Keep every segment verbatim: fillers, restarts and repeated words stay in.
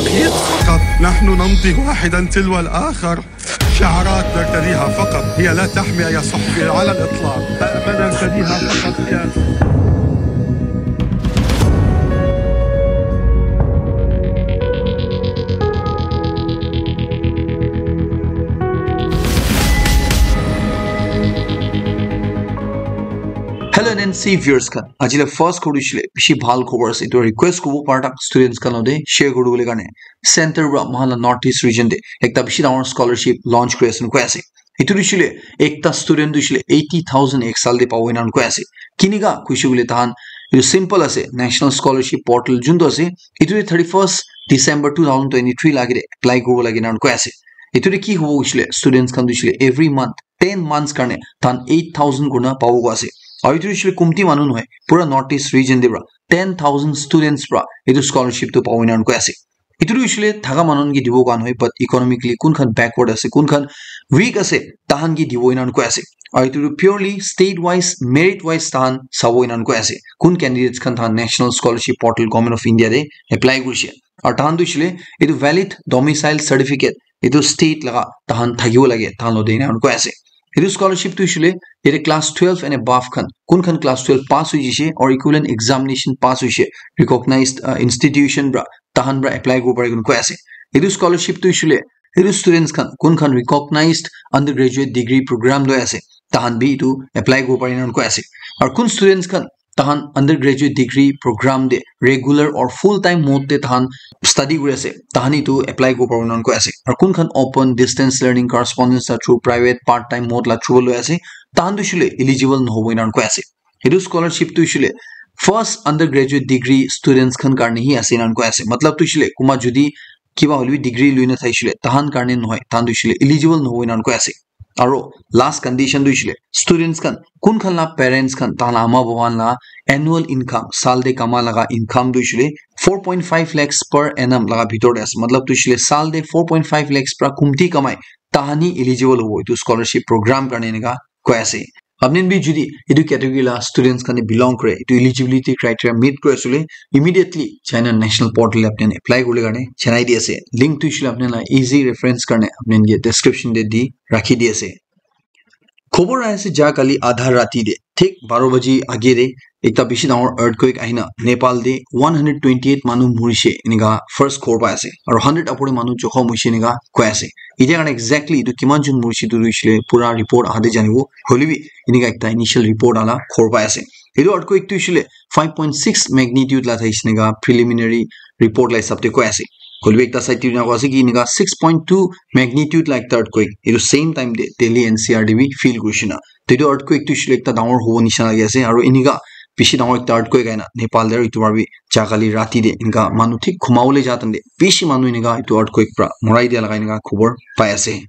فقط. نحن نمضي واحدا تلو الآخر. شعارات نرتديها فقط، هي لا تحمي، يا صحفي، على الإطلاق. ما نرتديها فقط هي Hello N N C viewers khan, ajile first khobor hoishe le bishi bhal khobor ase. Etu request kobo para students khan logote share kuribole karne. Center para moikhan la North East region te ekta bishi dangor scholarship launch kuri ase koi ase. Etu tu hoishe le ekta student tu hoishe le eighty thousand ek saal te pabo ena koi ase. Kinika koishe koile tahan etu simple ase, National Scholarship Portal juntu ase, etu te thirty-first December two thousand twenty-three lage te apply kuribo lage ena koi ase. Etu te ki hobo hoishe le students khan tu hoishe le every month ten months karne tahan eight thousand kurna pabo koi ase. Aru etu hoishe le kumti manu nohoi, pura North East region te para ten thousand students para etu scholarship tu pabo ena koi ase. Etu tu hoishe le thaka manu khan ke dibo khan hoi, but economically kun khan backward ase, kun khan weak ase, tahan ke dibo ena koi ase. Aru etu tu purely state wise, merit wise tahan sabo ena koi ase. Kun candidates khan tahan National Scholarship Portal Government of India te apply kurishe. Aru tahan tu hoishe le etu valid domicile certificate etu state laga tahan thakibo lage, tahan logote ena koi ase. Etu scholarship tu hoishe le yate class twelve and above khan, kun khan class twelve pass hoi jaise or equivalent examination pass hoise, recognized, uh, institution para tahan para apply kuribo pare koi ase. Etu scholarship tu hoishe le etu students khan kun khan recognized undergraduate degree program loi ase, tahan bi etu apply kuribo pare ena koi ase. Aru kun students khan tahan undergraduate degree program te regular or full time mode te tahan study kuri ase, tahan etu apply kuribo paribo ena koi ase. Aru kun khan open, distance learning, correspondence la through, private, part time mode la through loi ase, tahan tu hoishe le eligible nohobo ena koi ase. Etu scholarship tu hoishe le first undergraduate degree students khan karne hi ase ena koi ase. Matlab tu hoishe le kunba jodi kiba hoile bi degree loi na thaishe le tahan karne nohoi, tahan tu hoishe le eligible nohobo ena koi ase. Aru last condition tu hoishe le students khan kun khan la parents khan tahan la ama baba khan la annual income, saal te kama laga income tu hoishe le four point five lakhs per annum laga bhitor te ase. Matlab tu hoishe le saal te four point five lakhs para kumti kamai, tahan hi eligible hobo etu scholarship program karne ena koi ase. Apni khan bi jodi etu category la students khan te belong kore, etu eligibility criteria meet kuri ase koile, immediately China National Portal te apni khan apply kuribole karne janai di ase. Link tu hoishe le apni khan la easy reference karne apni khan ke description te di rakhi di ase. Khobor ahi ase ja kali adha rati te, thik baro baji age te, ekta bishi dangor earthquake ahina Nepal te one hundred twenty-eight manu murishe enika first khobor pai ase, aru hundred upor te manu jokhom hoishe enika koi ase. Etia karne exactly etu kiman jon murishe etu hoishe le pura report ahate janibo, hoile bi enika ekta initial report ala khobor pai ase. Etu earthquake tu hoishe le five point six magnitude la thaishe enika preliminary report la hisab te koi ase. Hoile bi ekta side te enika koi ase ki enika six point two magnitude la ekta earthquake etu same time te Delhi N C R te bi feel kurishe na. To etu earthquake tu hoishe le ekta dangor hobo nisha lagi ase, aru enika bishi dangor ekta earthquake ahina Nepal te, aru etu para bi ja kali rati te enika manu thik khumabole ja time te bishi manu enika etu earthquake para morai dia laga enika khobor pai ase.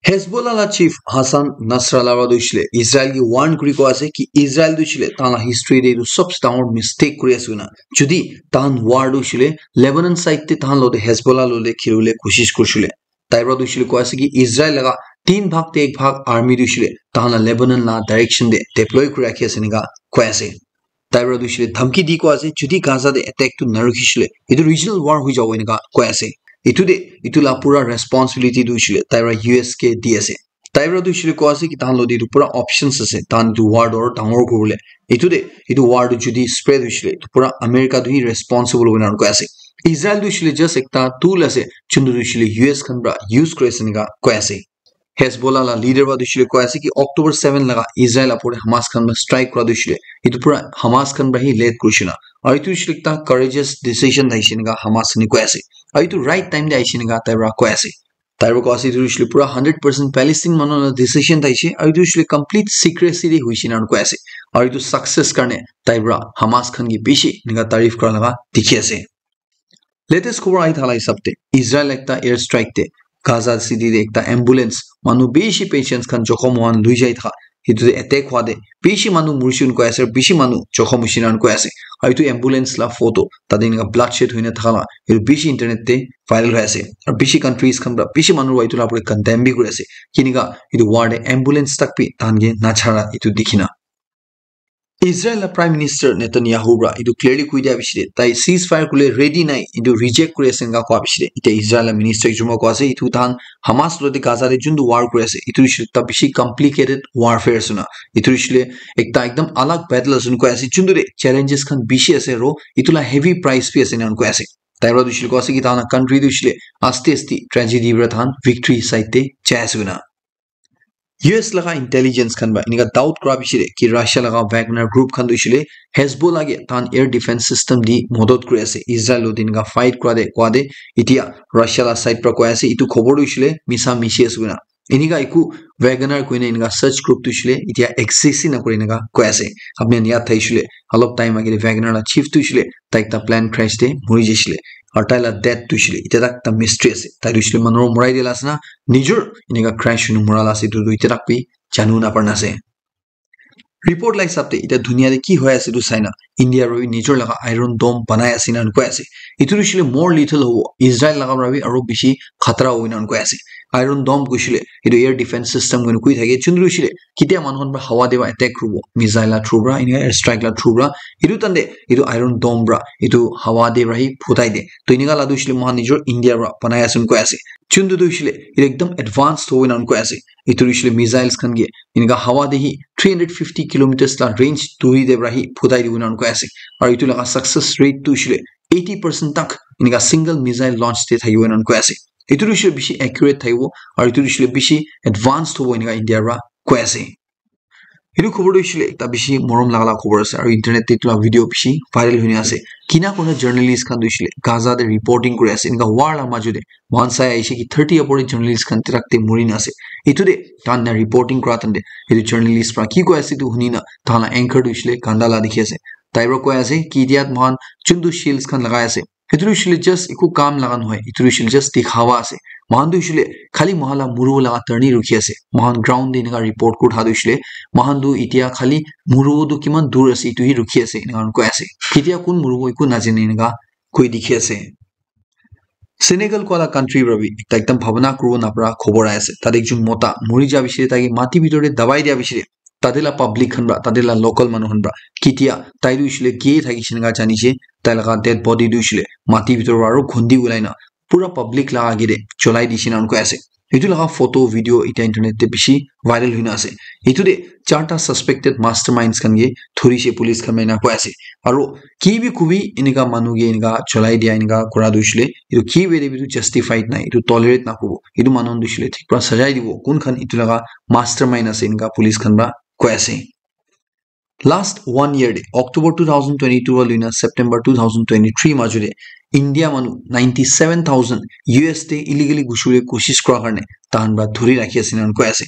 Hezbollah la chief Hassan Nasrallah para tu hoishe le Israel ke warn kuri koi ase ki Israel tu hoishe le tahan la history te etu sobse dangor mistake kuri ase koina. Jodi tahan war tu hoishe le Lebanon side te tahan logote Hezbollah logote khilibole koshish kurishe le, tai para tu hoishe le koi ase ki Israel laga tin bhag te ek bhag army tu hoishe le tahan la Lebanon la direction te deploy kuri rakhi ase enika koi ase. Tai para tu hoishe le dhamki di koi ase, jodi Gaza te attack tu narukhishe le, etu regional war hoi jabo enika koi ase. Etu te, etu la pura responsibility tu hoishe le tai para U S ke di ase. Tai para tu hoishe le koi ase ki tahan logote etu pura options ase, tahan etu war tu aru dangor kuribole. Etu te, etu war tu jodi spread hoishe le, etu pura America tu hi responsible hoina koi ase. Israel tu hoishe le just ekta tool ase, juntu tu hoishe le U S khan para use kuri ase enika koi ase. Hezbollah la leader para tu hoishe le koi ase ki October seven laga Israel upor te Hamas khan para strike kura tu hoishe le, etu pura Hamas khan para hi lead kurishe na. Aru etu hoishe le ekta courageous decision thaishe enika Hamas khan koi ase. Aru etu right time te ahishe enika tai para koi ase. Tai para koi ase etu hoishe le pura hundred percent Palestine manu la decision thaishe, aru etu hoishe le complete secrecy te hoishe enika koi ase. Aru etu success karne tai para Hamas khan ke bishi enika tarif kura laga dikhi ase. Latest khobor ahi thala hisab te, Israel ekta air strike te Gaza city te ekta ambulance, manu bishi patients khan jokhom hoan lui jai tha, etu te attack hua te bishi manu murishe koi ase, bishi manu jokhom hoishe enika koi ase. Aru etu ambulance la photo tate enika bloodshed hoina thaka la etu bishi internet te viral hoi ase. Aru bishi countries khan para bishi manu para etu la pura condemn bi kuri ase. Kinika etu war te ambulance tak bi tahan ke nachara etu dikhi na. Israel la Prime Minister Netanyahu pra etu clearly koi dia bishi de, tai ceasefire kule ready nai, etu reject kuri ase enka koa bishi de. Ite Israel la minister ekjon pra koa ase, etu tahan Hamas lo de Gaza de juntu war kuri ase, etu bishi ta bishi complicated warfare ase na. Etu bishi le ekta ekdam alag battle ase koi ase, juntu de challenges khan bishi ase ro, etu la heavy price bi ase na koi ase. Tai pra tu shile koa ase ki tahan country tu shile aste aste tragedy pra tahan victory side te jai ase na. U S laga intelligence khan ba enika doubt kura bishi de ki Russia laga Wagner group khan tu shile Hezbollah ke tahan air defense system di modot kuri ase Israel lo dinga fight kura de koa de. Itia Russia la side pra koi ase etu khobor tu shile misa mishi ase na. Enika eku Wagner koina enika search group tu shile itia exist na kuri enika koi ase. Apni khan yaad thai shile alop time agile Wagner la chief tu shile tai ekta plane crash te mori jaishile. Aru tai la death tu shile itia tak ta mystery ase. Tai tu shile manu morai dia la ase na nijor enika crash hunu mora la ase etu tu itia tak bi janu na parna ase. Report la hisab te itia dunia te ki hoi ase etu sai na India ra bi nijor laga Iron Dome banai ase na koi ase. Etu tu shile more lethal hobo Israel laga pra bi aru bishi khatara hobo na koi ase. Iron Dome kushile etu air defense system koi thake chundru shile kitia manu khan pra hawa de ba attack kuribo missile la through pra enika air strike la through pra etu tande etu Iron Dome pra etu hawa de pra hi phutai de. To enika la tu shile mohan nijor India pra banai ase koi ase. Chundu tu shile etu ekdam advanced hobo na koi ase. Etu tu shile missiles khan ke enika hawa de hi three hundred fifty kilometers la range duri de pra hi phutai dibo na koi ase. Aru etu laga success rate tu shile eighty percent tak enika single missile launch te thakibo na koi ase. Etu tu shile bishi accurate thakibo aru etu tu shile bishi advanced hobo enika India pra koi ase. Etu khobor tu shile ekta bishi morom laga la khobor ase aru internet te etu la video bishi viral hoina ase. Kina kona journalist khan tu shile Gaza te reporting kuri ase enika war la maju te mohan sai aishe ki thirty upor te journalist khan tirak te mori na ase. Etu te tahan na reporting kura tande etu journalist pra ki koi ase etu huni na tahan la anchor tu shile ganda la dikhi ase. Tai pra koi ase ki itia mohan chundu shields khan lagai ase. Etu tu shile just eku kam laga nohoi. Etu tu shile just dikhawa ase. Mohan tu shile khali mohan la muru laga turn hi rukhi ase. Mohan ground te enika report kuri tha tu shile mohan tu itia khali muru tu kiman dur ase etu hi rukhi ase enika koi ase. Ketia kun muru eku najane enika koi dikhi ase. Senegal koa la country pra bi ekta ekdam bhabana kuribo napara khobor ahi ase. Tate ekjon mota mori ja bishi, tai ke mati bitor te dabai dia bishi, tate la public khan pra, tate la local manu khan pra, ketia tai tu hoishe le ke thakishe naka jani she, tai laga dead body tu hoishe le mati bitor pra aro khundi ulai na pura public la age te cholai dishe na koi ase. Etu laga photo, video eta internet te bishi viral hoina ase. Etu te charta suspected masterminds khan ke dhuri she police khan pra ena koi ase. Aro ki bi kubi enika manu ke enika cholai dia enika kura tu hoishe le, etu ki bi te bi tu justified nai, etu tolerate na kuribo. Etu manu khan tu hoishe le thik pra sajai dibo. Kun khan etu laga mastermind ase enika police khan pra koi ase. Last one year te, October two thousand twenty-two wa loina September two thousand twenty-three majo te, India manu ninety-seven thousand U S te illegally ghusi bole koshish kura karne tahan pra dhuri rakhi ase enakurna koi ase.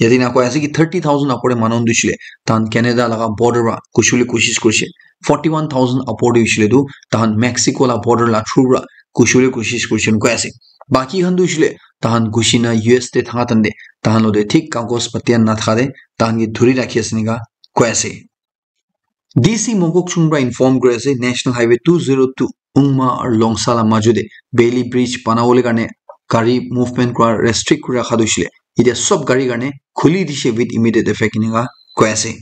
Yate ena koi ase ki thirty thousand upor te manu khan tu hoishe le tahan Canada laga border pra ghusi bole koshish kurishe. Forty-one thousand upor te hoishe le tu tahan Mexico la border la through pra ghusi bole koshish kurishe enakurna koi ase. Baki khan tu hoishe le tahan ghusi na U S te thaka time te tahan logote thik kagos patia nathaka te tahan ke dhuri rakhi ase enakurna koi ase. D C Mokokchung pra inform kuri ase, National Highway two zero two Ungma aru Longsa la majo te Bailey Bridge bana bole karne gari movement kura restrict kuri rakha tu hoishe le, etia sob gari karne khuli dishe with immediate effect enakurna koi ase.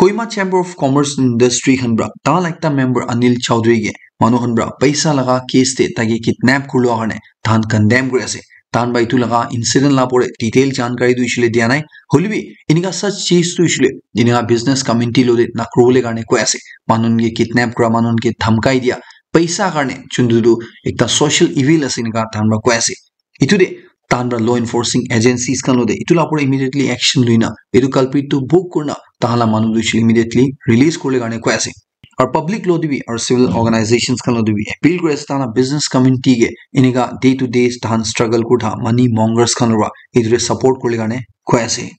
Kohima Chamber of Commerce and Industry khan pra tahan la ekta member Anil Chaudhary ke manu khan pra paisa laga case te tai ke kidnap kuri lua karne tahan condemn kuri ase. Tahan pra etu laga incident la pore detail jankari tu hoishe le dia nai. Hoile bi enika such case tu hoishe le enika business community logote na kuri bole karne koi ase. Manu khan ke kidnap kura, manu khan ke dhamkai dia, paisa karne, juntu tu ekta social evil ase enika tahan pra koi ase. Etu te tahan pra law enforcing agencies khan logote etu la pore immediately action loina etu culprit tu book kurina tahan la manu tu hoishe le immediately release kuri bole karne koi ase. Aru public logote bi aru civil organizations khan logote bi appeal kuri ase tahan la business community ke enika day to day tahan struggle kuri tha money mongers khan pra etu te support kuri bole karne koi ase.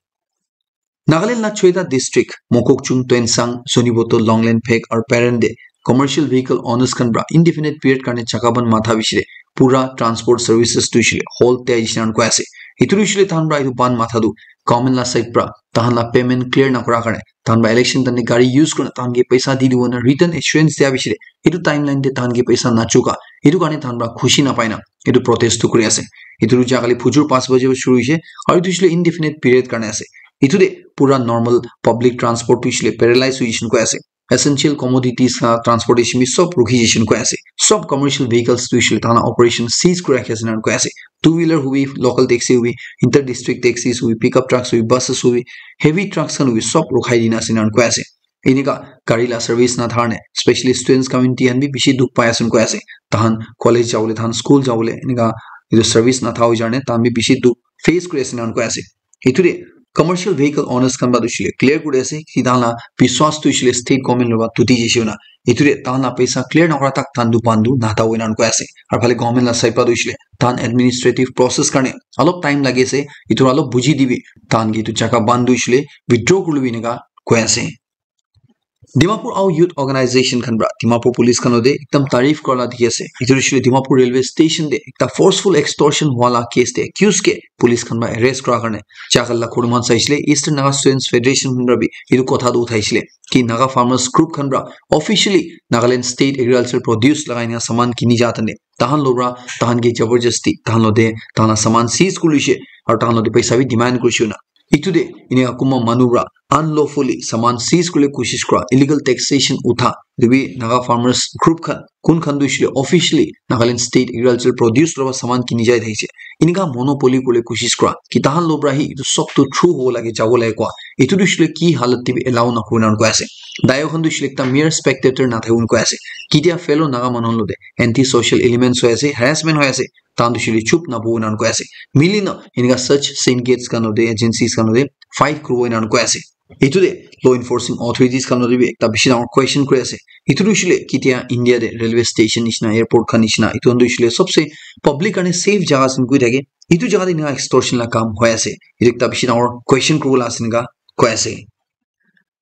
Nagaland la choita district, Mokokchung, Tuensang, Zunheboto, Longlen, Phek aru Peren te commercial vehicle owners khan pra indefinite period karne chakka bandh matha bishi te pura transport services tu hoishe le halt te aishe na koi ase. Etu tu hoishe le tahan pra etu bandh matha tu government la side pra tahan la payment clear na kura karne tahan pra election time te gari use kurina tahan ke paisa di dibo na written assurance dia bishi te etu timeline te tahan ke paisa na chuka, etu karne tahan pra khushi na pai na etu protest tu kuri ase. Etu tu jagale phujur panch baje pra shuru hoishe aru etu hoishe le indefinite period karne ase. Etu te pura normal public transport tu hoishe le paralyze hoi jai shey koi ase. Essential commodities la transportation bi sob rukhi jai shey koi ase. Sob commercial vehicles tu hoishe le tahan la operation cease kuri rakhi ase ena koi ase. Two wheeler hobi, local taxi hobi, inter district taxis hobi, pickup trucks hobi, buses hobi, heavy trucks khan hobi sob rukhai dina ase ena koi ase. Enika gari la service na thar ne, specially students community khan bi bishi dukh pai ase koi ase. Tahan college jabole, tahan school jabole enika etu service na thar jane tahan bi bishi dukh face kuri ase ena koi ase. Etu te commercial vehicle owners khan para tu hoishe le clear kuri ase ki tahan la biswas tu hoishe le state government lora tuti jai shey na. Etu te tahan la paisa clear na kura tak tahan tu bandu na thabo ena koi ase. Aru phale government la side para tu hoishe le tahan administrative process karne alop time lagi ase. Etu alop buji dibi, tahan ki etu jaga bandu hoishe le withdraw kuri lobi enika koi ase. Dimapur Ao Youth Organization khan para Dimapur police khan te ekdam tarif kura la dikhi ase. Etu hoishe le Dimapur railway station te ekta forceful extortion wala case te accused ke police khan para arrest kura karne jagal la khurman saishe le Eastern Naga Students Federation khan para bi etu kotha tu uthaishe le ki Naga farmers group khan para officially Nagaland State Agriculture Produce lagai na saman kini ja tane tahan lora tahan ke jabardasti tahan lote tahan la saman seize kuri loishe aru tahan lote paisa bi demand kurishe na. Etu te enika kunba manu para unlawfully saman seize kuribole koshish kura, illegal taxation utha, etu bi Naga farmers group khan, kun khan tu hoishe le officially Nagaland State Agricultural Produce lora saman kini jai thakishe. Enika monopoly kuribole koshish kura, ki tahan lora para hi etu sob tu through hobo lage, jabo lage kua. Etu tu hoishe le ki halat te bi allow na kurina koi ase. Dayo khan tu hoishe le ekta mere spectator na thakibo koi ase. Ketia fellow Naga manu lote anti social elements hoi ase, harassment hoi ase, tahan tu hoishe le chup na boho ena koi ase. Mili na enika such syndicates khan lote, agencies khan lote fight kuribo ena koi ase. Etu te law enforcing authorities khan lote bi ekta bishi dangor question kuri ase. Etu tu hoishe le ketia India te railway station nishina, airport khan nishina, etu khan tu hoishe le sobse public karne safe jaga ase koi thake. Etu jaga te enika extortion la kam hoi ase. Etu ekta bishi dangor question kuribo la ase enika koi ase.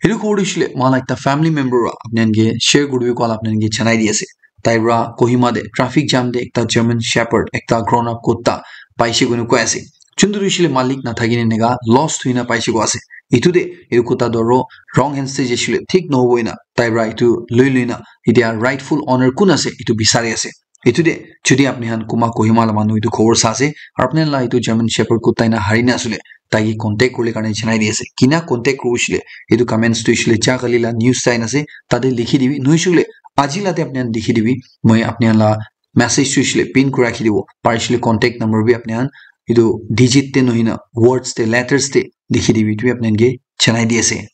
Etu khobor tu hoishe le moikhan la ekta family member para apni khan ke share kuri dibi koa la apni khan ke janai di ase. Tai para Kohima te traffic jam te ekta German Shepherd, ekta grown up kutta paishe koina koi ase. Juntu tu hoishe le malik na thaki ne enika lost hoi na paishe koi ase. Etu te etu kutta tu aro wrong hands te jaishe le thik nahobo ena tai para etu loi loi na etia rightful owner kun ase etu bisari ase. Etu te jodi apni khan kunba Kohima la manu etu khobor sa ase, aru apni khan la etu German Shepherd kutta ena hari na asile, tai ke contact kuribole karne janai di ase. Kina contact kuribo hoishe le, etu comments tu hoishe le ja kali la news sign ase, tate likhi dibi. Nohoishe le, aji la te apni khan likhi dibi. Moi apni khan la message tu hoishe le pin kuri rakhi dibo. Parishe le contact number bi apni khan etu digit te nohoi na words te, letters te likhi dibi. Etu bi apni khan ke janai di ase.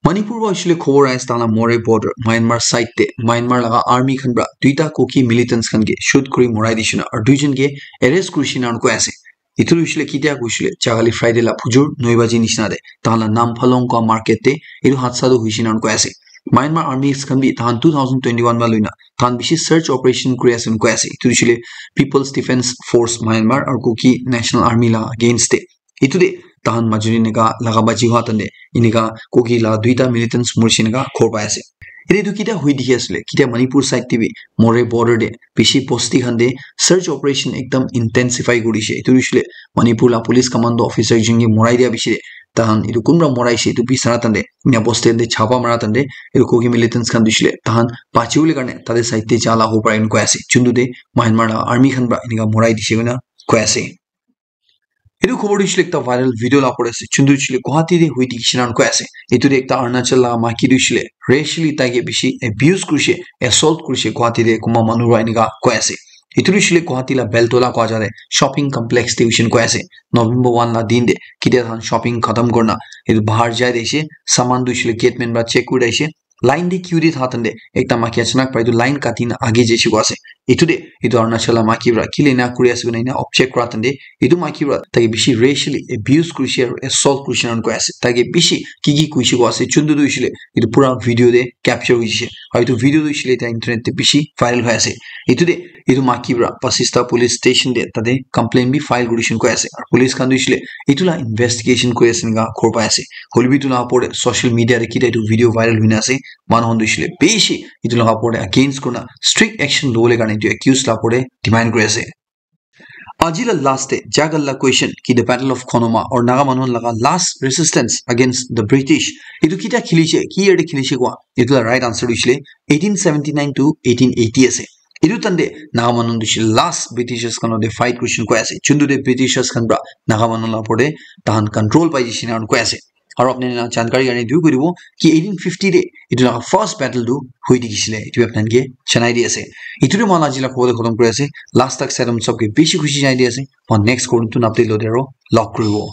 Manipur para hoishe le khobor ahi ase tahan la Moreh border, Myanmar side te, Myanmar laga army khan para duita Kuki militants khan ke shoot kuri morai dishe na, aru duijon ke arrest kurishe na koi ase. Etu hoishe le ketia koishe le, jaga le Friday la phujur noi baji nishina te, tahan la Namphalong koi market te, etu hadsa tu hoishe na koi ase. Myanmar armies khan bi tahan two thousand twenty-one para loi na, tahan bishi search operation kuri ase koi ase. Etu hoishe le People's Defence Force Myanmar aru Kuki National Army la against te. Etu te tahan majuni enika laga baji hua tante enika Kuki la duita militants morishe enika khobor pai ase. Ete etu ketia hoi dikhi asile, ketia Manipur side te bi Moreh border te bishi bosti khan te search operation ekdam intensify kurishe. Etu hoishe le Manipur la police commando officer ekjon ke morai dia bishi te tahan etu kunba moraishe etu bi sara tante ena bosti te chapa mara tante etu Kuki militants khan hoishe le tahan bachi bole karne tate side te ja la hobo pare enika koi ase. Juntu te Myanmar la army khan para enika morai dishe koina koi ase. Etu khobor tu hoishe le ekta viral video la opor te ase. Juntu hoishe le Guwahati te hoi dikhi shey na koi ase. Etu te ekta Arunachal la maiki tu hoishe le racially tai ke bishi abuse kurishe, assault kurishe Guwahati te kunba manu para enika koi ase. Etu tu hoishe le Guwahati la Beltola koi jaga te shopping complex te hoishe na koi ase. November one la din te ketia tahan shopping khatam kurina etu bahar jai de ase. Saman tu hoishe le gate man para check kuri de ase. Line te queue te tha tante ekta maiki achanak para etu line kati na age jaise koi ase. Etu te etu Arunachal la maiki para kile ena kuri ase koina ena object kura tante etu maiki para tai ke bishi racially abuse kurishe aru assault kurishe ena koi ase. Tai ke bishi ki ki koishe koi ase juntu tu hoishe le etu pura video te capture hoishe. Aru etu video tu hoishe le eta internet te bishi viral hoi ase. Etu te etu maiki para Basista police station te tate complaint bi file kurishe koi ase. Aru police khan tu hoishe le etu la investigation kuri ase enika khobor pai ase. Hoile bi etu la opor te social media te ketia etu video viral hoina ase. Manu khan tu hoishe le bishi etu laga opor te against kurina strict action lobole karne etu accused la opor te demand kuri ase. Aji la last te jagal la question ki the Battle of Khonoma or Naga manu laga last resistance against the British etu ketia khilishe, ki year te khilishe koi? Etu la right answer tu hoishe le eighteen seventy-nine to eighteen eighty ase. Etu time te Naga manu bishi last Britishers khan te fight kurishin koi ase. Juntu te Britishers khan pra Naga manu la opor te tahan control pai jishin koi ase. Aru apni khan jankari karne etu koi dibo ki eighteen fifty te etu laga first battle tu hoi dikhisile. Etu apni khan ke janai di ase. Etu tu moi ajila khobor te khotom kuri ase. Last tak saitam sabke bishi khushi janai di ase. Moi next khobor tu napte lo de aro log kuribo.